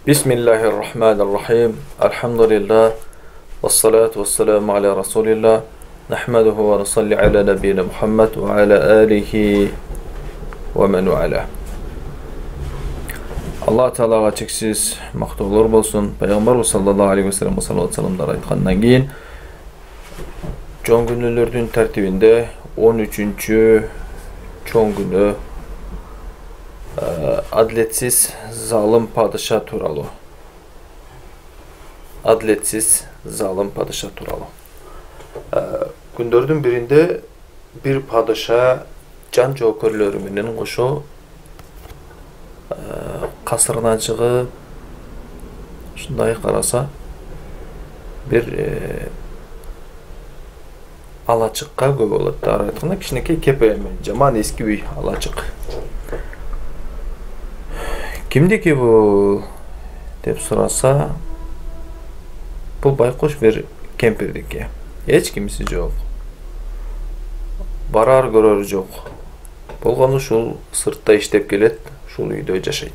Bismillahirrahmanirrahim. Elhamdülillah. Vessalatu vesselamu ala Resulillah. Nahmaduhu ve nusalli ala nebiyyina Muhammed ve ala alihi ve men ala. Allah Teala'ga çeksiz maktullar bolsun. Peygamber sallallahu aleyhi ve sellem sallallahu aleyhi aytkandan keyin çoğun günlülerdün tertibinde 13. çoğun günü adletsiz zalim padişah turalı. Adletsiz zalim padişah turalı. Gündördün birinde bir padişah can jokerleri menen koşu kasırdan çıkıp şunday karasa bir alaçıkka göbü oladı. Arayatında kişineki kepeyemen. Jaman eski bir alaçık. Kimdi ki bu dep sorasa bu baykuş bir kempirdiki. Hiç kimisi yok. Barar görөр yok. Bolgonu şul sırtta iştep kelet, şul uyda jaşayt.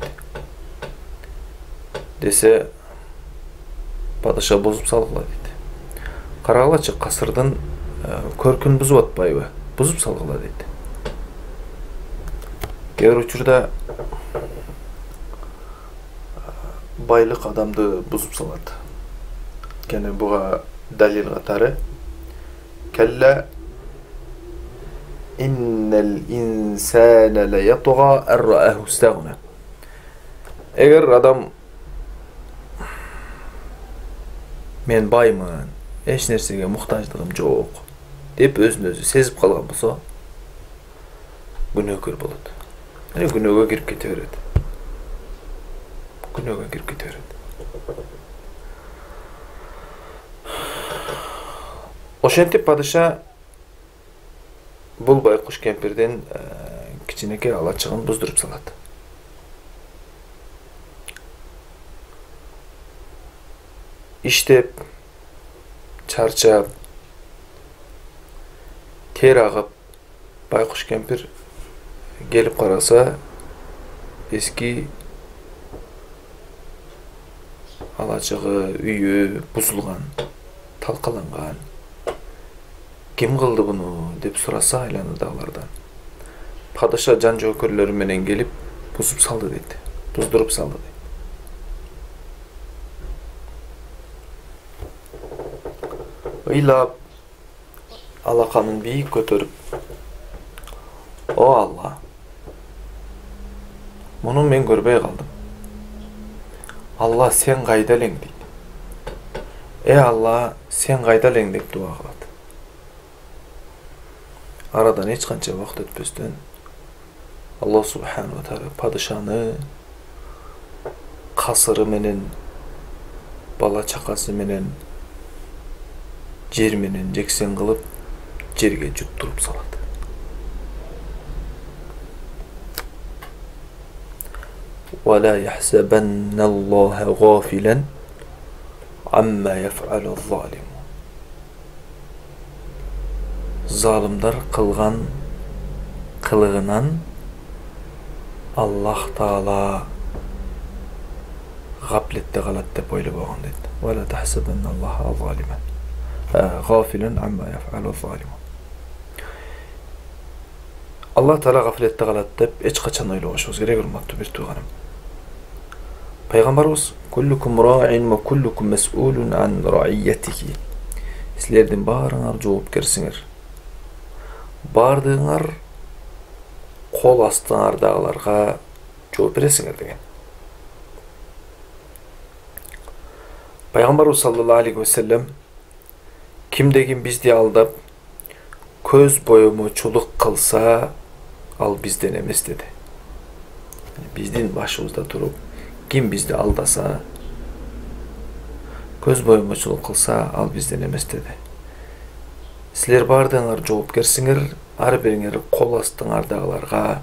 Dese padişah bozup salgıla dedi. Karagılaçık kasırdan körkün buzup atpayбы? Buzup salgıla dedi. Keyir uçurda baylık adamdı buzup saladı. Kene buğa dalil katары kella innel insane le yatga er-ra'ahu istagna. Eğer adam men baymın, eç nersege muhtaçlığım jok dep özünü özü sezip kalgan bolsa günökөр bolot. Yani günögө kirip kete berет. Günögө kirip kete berет. Oşentip padişah bul baykuş kempirden kiçineke alaçığın buzdurup saladı. İştep, çarçap, ter ağıp baykuş kempir gelip karasa eski alaçığı, üyü buzulgan, talkalangan. Kim kıldı bunu dep sorasa aylanıdagılardan. Padişah can jokerleri menen gelip buzup saldı dedi. Buzdurup saldı dedi. Ыйлап алаканын бийик көтөрүп о Allah, муну мен көрбөй калдым. Allah sen кайда элең дейт. Allah sen кайда элең деп дуа кылат. Aradan hiç kança vakt ötpöstön Allah subhanahu wa ta'ala padişahını kasırı menen bala çakası menen jer menen jeksen kılıp jerge jutturup saladı. Ve la yahsabannallaha ghafilan amma yef'aluz-zalim. Zalimler kılgan kılığınan Allah Taala gaflette kalat dep oylop bolgan dedi. Ve la tahsabannallaha zaliman ghafilan amma yef'aluz-zalim. Allah Taala gaflette kalat dep hiç kaçan oylobuşubuz gerek urmatlı bir tuğanım. Peygamberimiz kullukum ra'in ve kullukum mes'ulun an ra'iyyatihi. Sizlerden barıngар жоопкерсиңер. Бардыңар кол астыңардагыларга жооп бересиңер деген. Пайгамбарыбыз саллаллаху алейхи ва саллям кимдегин бизди алдап көз боемочулук кылса ал бизден эмес деди. Биздин башыбызда туруп ким бизди алдаса көз боемочулук кылса ал бизден эмес деди. Силер бардыңар жоопкерсиңер, ар бириңер кол астыңардагыларга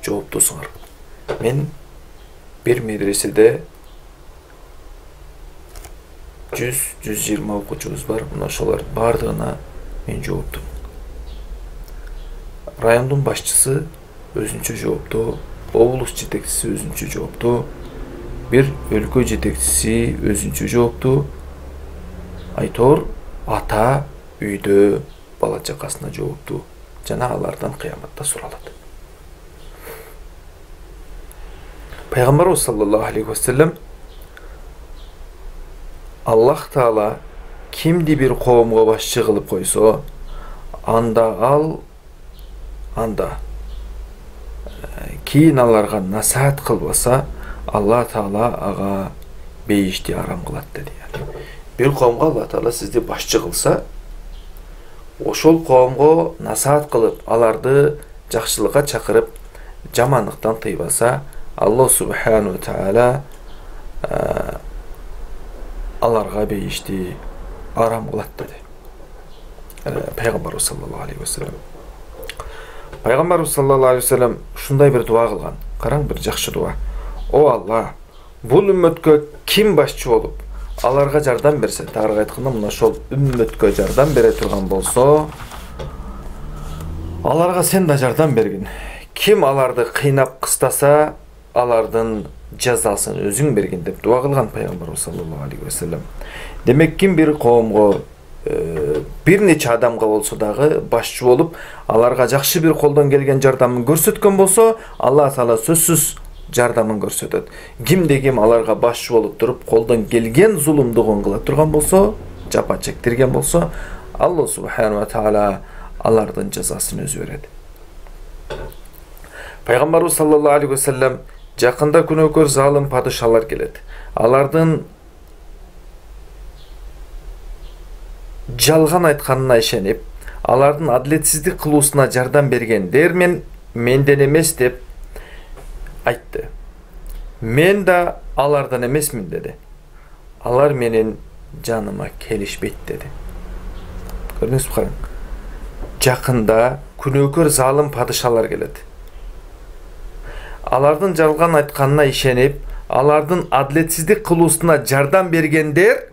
жооптусуңар. Мен bir медреседе 100-120 окуучубуз бар. Мына ошолор бардыгына мен жооптум. Райондун башчысы өзүнчө жоопту, облус жетекчиси өзүнчө жоопту, бир өлкө жетекчиси өзүнчө жооптуу, айтор ата үйдө бала чакасына жооптуу жана алардан кыяматта суралат. Пайгамбарыбыз саллаллаху алейхи вассалам Аллах Таала кимди бир коомго башчы кылып койсо, анда кийин аларга насаат кылбаса, Алла Таала ага бейишти арам кылат деди. Бир коомго Алла Таала сизди башчы кылса, ошол коомго насаат кылып, аларды жакшылыкка чакырып, жамандыктан тыйбаса, Аллах субхану ва таала аларга бейишти арам кылат деди. Пайгамбарыбыз саллаллаху алейхи вассалам. Пайгамбарыбыз саллаллаху алейхи вассалам ушундай бир дуа кылган. Караң, бир жакшы дуа. О Алла, бул үммөткө ким башчы болуп, аларга жардам берсе, тагыраагы айтканда, мына ошол үммөткө жардам бере турган болсо, аларга сен да жардам бергин. Ким аларды кыйнап кыстаса, алардын жазасын өзүң бергин деп дуа кылган Пайгамбарыбыз саллаллаху алейхи вассалам. Демек, ким бир коомго бир нече адамга болсо дагы башчы болуп, аларга жакшы бир колдон келген жардамын көрсөткөн болсо, Алла Таала сөзсүз жардамын көрсөтөт. Кимде ким аларга башчы болуп туруп, колдон келген зулумдугун кыла турган болсо, жапа чектирген болсо, Алла субхану ва таала алардын жазасын өзү берет. Пайгамбарыбыз саллаллаху алейхи вассалам жакында күнөөкөр залым падышалар келет. Алардын жалган айтканына ишенип, алардын адилетсиздик кылуусуна жардам бергендер менден эмес деп айтты. Мен да алардан эмесмин деди. Алар менин жаныма келишпейт деди. Көрдүңүзбү, караң. Жакында күнөөкөр залым падышалар келет. Алардын жалган айтканына ишенип, алардын адилетсиздик кылуусуна жардам бергендер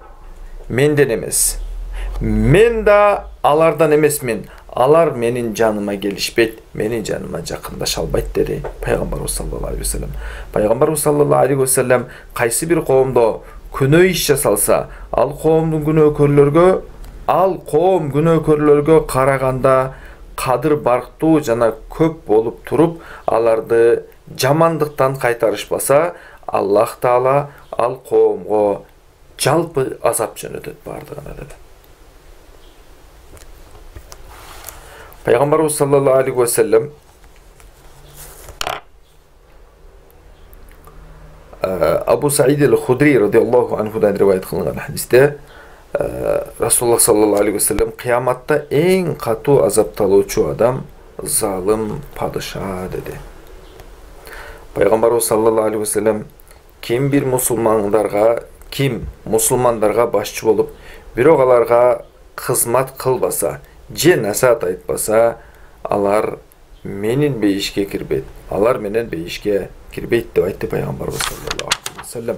менден эмес. Мен да алардан эмесмин. Алар менин жаныма келишпейт, менин жаныма жакындаша албайт деди Пайгамбарыбыз саллаллаху алейхи вассалам. Пайгамбарыбыз саллаллаху алейхи вассалам кайсы бир коомдо күнөө иш жасалса, ал коом күнөөкөрлөргө караганда кадыр барктуу жана көп болуп туруп, аларды жамандыктан кайтарышпаса, Аллах Таала ал коомго жалпы азап жөнөтөт бардыгына деди. Пайгамбарыбыз саллаллаху алейхи вассалам Абу Саид ал-Худри радиаллаху анхудан риваят кылынган хадисте Расулуллах саллаллаху алейхи вассалам кыяматта эң катуу азапталуучу адам залым падыша деди. Пайгамбарыбыз саллаллаху алейхи вассалам ким мусулмандарга башчы болуп, бирок аларга кызмат кылбаса, же насаат айтпаса, алар менин бейишке кирбейт. Алар менен бейишке кирбейт деп айтты Пайгамбарыбыз саллаллаху алейхи вассалам.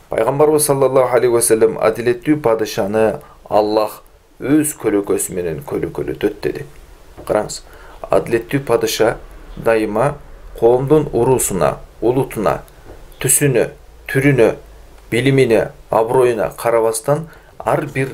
Пайгамбарыбыз саллаллаху алейхи вассалам адилеттүү падышаны Аллах өз көлөкөсү менен көлөкөлөтөт деди. Караңыз, адилеттүү падыша дайыма коомдун уруусуна, улутуна, түсүнө, түрүнө, билимине, аброюна карабастан ар бир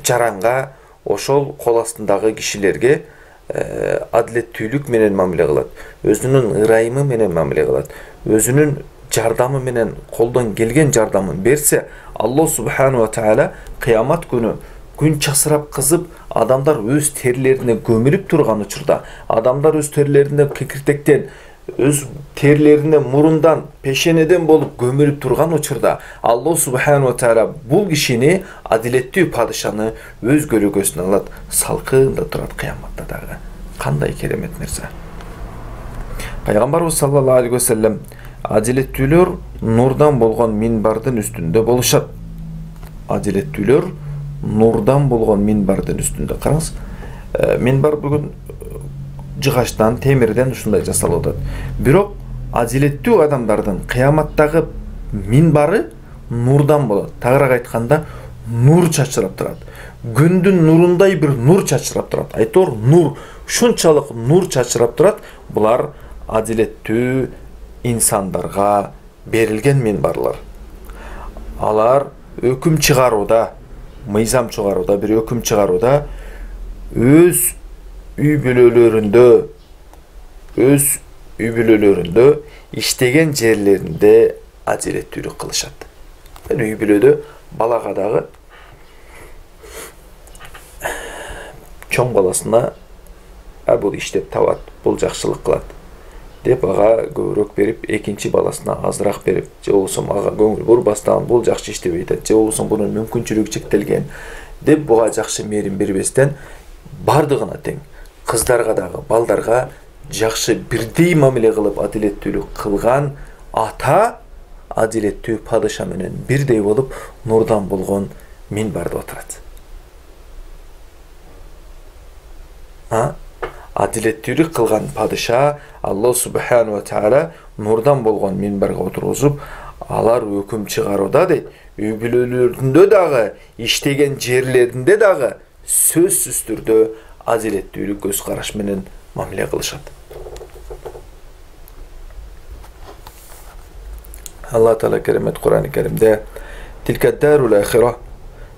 жаранга, ошол кол астындагы кишилерге адилеттүүлүк менен мамиле кылат, өзүнүн ырайымы менен мамиле кылат, өзүнүн жардамы менен колдон келген жардамын берсе, Аллах субхану ва таала кыямат күнү күн часырап кызып, адамдар өз терлерине көмүлүп турган учурда, адамдар өз терлерине кекиртектен, өз терлерине мурундан, пешенеден болуп көмүлүп турган учурда, Аллах субхану ва таала бул кишини, адилеттүү падышаны өз көлөкөсүнө алат, салкында турат кыяматта дагы. Кандай керемет нерсе. Пайгамбарыбыз саллаллаху алейхи вассалам адилеттүүлөр нурдан болгон минбардын үстүндө болушат. Адилеттүүлөр нурдан болгон минбардын үстүндө. Караңыз, минбар бүгүн жыгачтан, темирден ушундай жасалып атат. Бирок адилеттүү адамдардын кыяматтагы минбары нурдан болот. Тагыраак айтканда, нур чачырап турат. Күндүн нурундай бир нур чачырап турат. Айтор нур, ушунчалык нур чачырап турат. Булар адилеттүү инсандарга берилген минбарлар. Алар өкүм чыгарууда, мыйзам чыгарууда, бир өкүм чыгарууда өз үй бүлөлөрүндө иштеген жерлеринде адилеттүүлүк кылышат. Үй бүлөдө балага дагы чоң баласына бул иштеп табат, бул жакшылык кылат деп ага көбүрөөк берип, экинчи баласына азыраак берип, же болбосо ага көңүл бурбастан бул жакшы иштебей атат, же болбосо бунун мүмкүнчүлүгү чектелген деп буга жакшы мээрим бербестен бардыгына тең кыздарга дагы балдарга жакшы бирдей мамиле кылып адилеттүүлүк кылган ата адилеттүү падыша менен бирдей болуп нурдан болгон минбарда отурат. Адилеттүүлүк кылган падыша Аллах субхану ва таала нурдан болгон минбарга отургузуп, алар өкүм чыгарууда дейт, үй бүлөлөрүндө дагы, иштеген жерлеринде дагы сөзсүз түрдө адилеттүүлүк көз караш менен мамиле кылышат. Аллах таала керемет Кур'ан-ы Керимде "Tilka ad-darul akhirah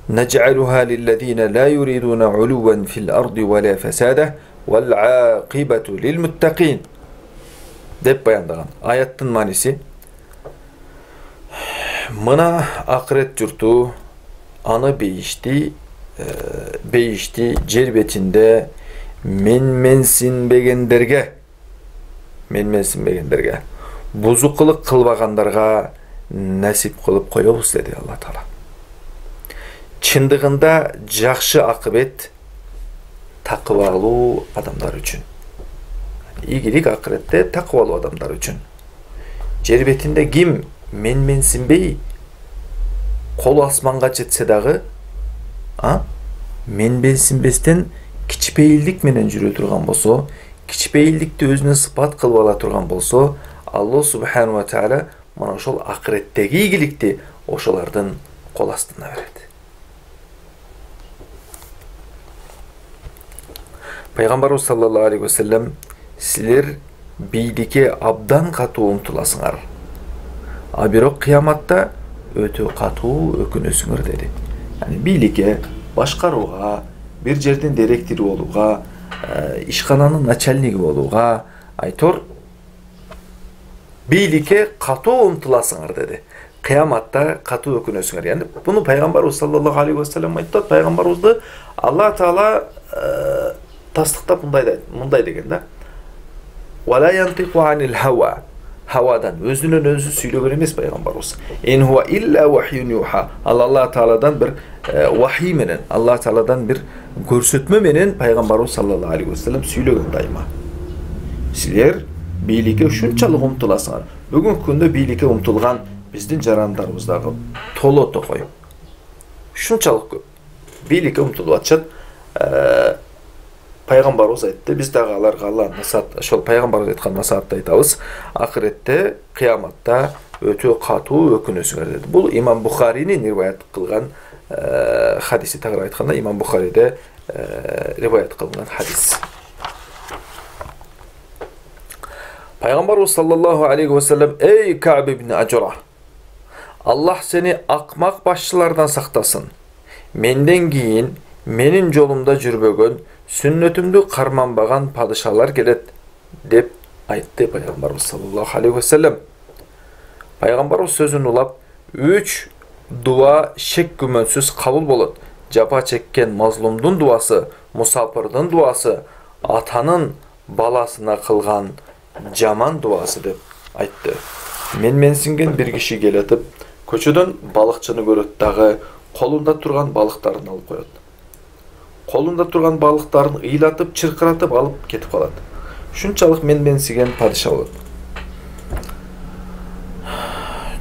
naj'aluha lil-ladina la yuriduna 'uluwan fil-ardi wa la fasada wal-'aqibatu lil-muttaqin" деп баяндаган. Аяттын мааниси: мына акырет журту аны бейишти жер бетинде менменсинбегендерге бузукулук кылбагандарга насип кылып коебуз деди Алла таала. Чындыгында жакшы акыбет такыбалуу адамдар үчүн. Ийгилик акыретте такыбалуу адамдар үчүн. Жер бетинде ким менменсинбей колу асманга жетсе дагы, менменсинбестен кичпейилдик менен жүрө турган болсо, кичпейилдикти өзүнө сыпат кылып ала турган болсо, Аллах субхану ва таала мына ошол акыреттеги ийгиликти ошолордун кол астына берет. Пайгамбарыбыз саллаллаху алейхи ва саллям: "Силер бийликке абдан катуу умтуласыңар, а бирок кыяматта өтө катуу өкүнөсүңөр" деди. Yani бийликке, башкарууга, бир жердин директори болууга, ишкананын начальниги болууга айтор бийликке катуу умтуласыңар деди. Кыяматта катуу өкүнөсүңөр. Yani буну пайгамбарыбыз саллаллаху алейхи ва саллям айтат. Пайгамбарыбызды Алла таала тастыктап мындай деген да: "Вала янтику анил хава" Хавадан өзүнөн өзү сүйлөгөн эмес пайгамбарыбыз. "Ин хуа илля вахюн юха" Алла тааладан бир вахий менен, Алла тааладан бир көрсөтмө менен пайгамбарыбыз саллаллаху алейхи ва саллям сүйлөгөн дайыма. Силер бийликке ушунчалык умтуласыңар. Бүгүнкү күндө бийликке умтулган биздин жарандарыбыз дагы толото кой. Ушунчалык көп бийликке умтулуп атышат. Пайгамбарыбыз айтты, биз дагы аларга Аллах насаат, ошол пайгамбарыбыз айткан насаатты айтабыз. Акыретте, кыяматта өтө катуу өкүнөсүңөр деди. Бул Имам Бухаринин риваят кылган хадиси. Тагыраак айтканда, Имам Бухариде риваят кылган хадис. Пайгамбарыбыз саллаллаху алейхи ва саллям: "Эй Кааб ибн Ажра, Аллах сени акмак башчылардан сактасын. Менден кийин менин жолумда жүрбөгөн, сүннөтүмдү карманбаган падышалар келет" деп айтты пайгамбарыбыз саллаллаху алейхи ва саллям. Пайгамбарыбыз сөзүн улап: "3 дуа шек күмөнсүз кабыл болот. Жапа чеккен мазлумдун дуасы, мусапырдын дуасы, атанын баласына кылган жаман дуасы" деп айтты. Менменсинген бир киши келетип, көчөдөн балыкчыны көрөт дагы колунда турган балыктарын алып коет. Колунда турган балыктарын ыйлатып, чыркыратып алып кетип калат. Ушунчалык менменсиген падыша болот.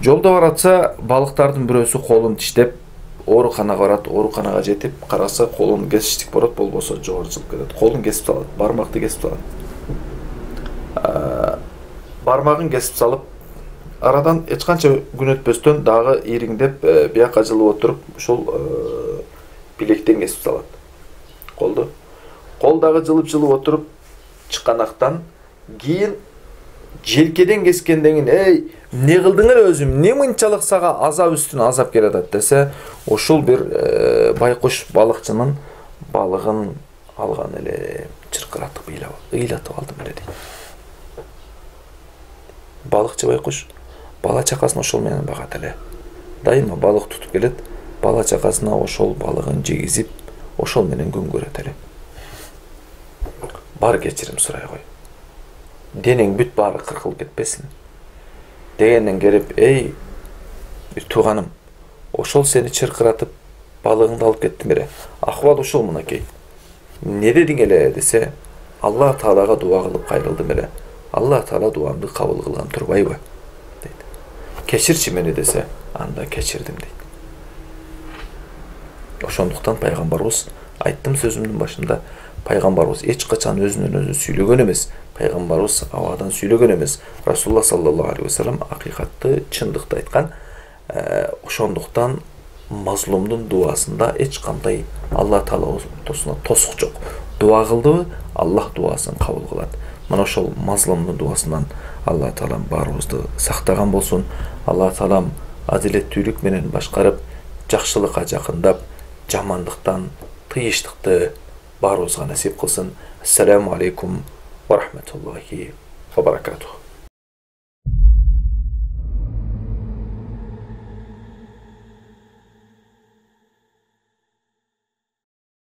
Жолдо баратса, балыктардын бирөөсү колун тиштеп, ооруканага барат, ооруканага жетип, караса колун кесиштик болот, болбосо жогору чыгып кетет. Колун кесип салат, бармакты кесип салат. Бармагын кесип салып, арадан эч канча күн өтпөстөн дагы ириңдеп, бияка жылып отуруп, ушул билектен кесип салат. Колду. Кол дагы жылып отуруп, чыканактан кийин желкеден кескенден кийин эй эмне кылдың эле өзүм, эмне мынчалык сага азап үстүнө азап келип атат десе, ошол бир байкуш балыкчынын балыгын алган эле чыркыратып ыйлатып алдым эле дейт. Балыкчы байкуш бала чакасын ошол менен багат эле. Дайыма балык тутуп келет, бала чакасына ошол балыгын жегизип, ошол менен күн көрөт эле. Бар кечирим сурай кой. Денең бүт баары кыркылып кетпесин. Дегенден келип, эй, бир тууганым, ошол сени чыркыратып балыгыңды алып кеттим эле. Акыбал ушул мынакей. Не дедиң эле десе, Алла Таалага дуа кылып кайрылдым эле. Алла Таала дуамды кабыл кылган турбайбы? Дейт. Кечирчи мени десе, анда кечирдим дейт. Ошондуктан пайгамбарыбыз, айттым сөзүмдүн башында, пайгамбарыбыз эч качан өзүнөн өзү сүйлөгөн эмес, пайгамбарыбыз абадан сүйлөгөн эмес. Расулулла саллаллаху алейхи вассалам акыйкатты, чындыкты айткан. Ошондуктан мазлумдун дуасында эч кандай Алла Таала ортосуна тосук жок. Дуа кылдыбы, Аллах дуасын кабыл кылат. Мына ошол мазлумдун дуасынан Алла Таалам баарыбызды сактаган болсун. Алла Таалам адилеттүүлүк менен башкарып, жакшылыкка жакындап, жамандыктан тыйыштыкты баарыбызга насип кылсын. Ассаламу алейкум ва рахматуллахи ва баракатух.